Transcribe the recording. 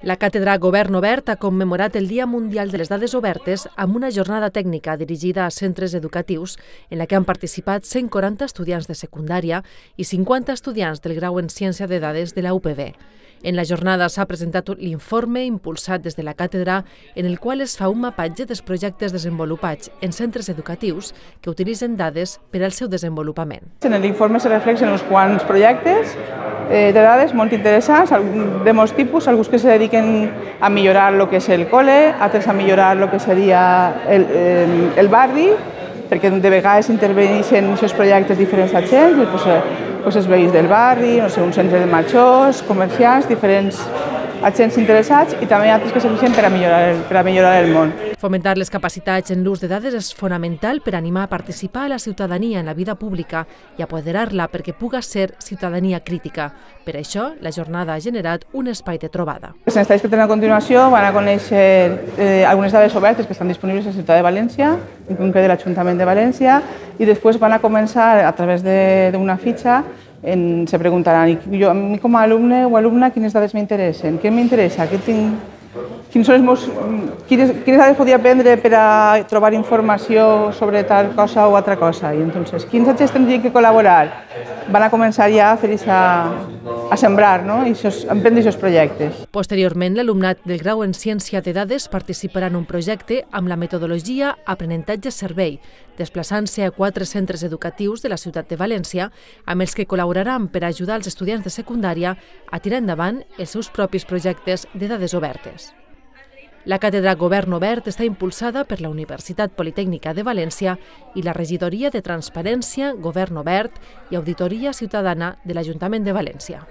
La càtedra Govern Obert ha commemorat el Dia Mundial de les Dades Obertes amb una jornada tècnica dirigida a centres educatius en la que han participat 140 estudiants de secundària i 50 estudiants del grau en Ciència de Dades de la UPB. En la jornada s'ha presentat l'informe impulsat des de la càtedra en el qual es fa un mapatge dels projectes desenvolupats en centres educatius que utilitzen dades per al seu desenvolupament. En l'informe se reflexen uns quants projectes de dades molt interessants, de molts tipus, alguns que se dediquen a millorar el que és el col·le, altres a millorar el que seria el barri, perquè de vegades interveneixen aquests projectes diferents agents, els veïns del barri, un centre de majors, comerciants, diferents agents interessats i també altres que serveixen per a millorar el món. Fomentar les capacitats en l'ús de dades és fonamental per animar a participar a la ciutadania en la vida pública i apoderar-la perquè puga ser ciutadania crítica. Per això, la jornada ha generat un espai de trobada. Els estais que tenen a continuació van a conèixer algunes dades obertes que estan disponibles a la ciutat de València, en concret de l'Ajuntament de València, i després van a començar a través d'una fitxa. Se preguntaran, a mi com a alumne o alumna, quines dades m'interessen? Què m'interessa? Quines dades podria aprendre per a trobar informació sobre tal cosa o altra cosa? I entonces, quins agents tindrien que col·laborar? Van a començar ja a sembrar, i emprendre aquests projectes. Posteriorment, l'alumnat del grau en Ciència de Dades participarà en un projecte amb la metodologia Aprenentatge-Servei, desplaçant-se a 4 centres educatius de la ciutat de València, amb els que col·laboraran per ajudar els estudiants de secundària a tirar endavant els seus propis projectes de dades obertes. La càtedra Govern Obert està impulsada per la Universitat Politècnica de València i la Regidoria de Transparència, Govern Obert i Auditoria Ciutadana de l'Ajuntament de València.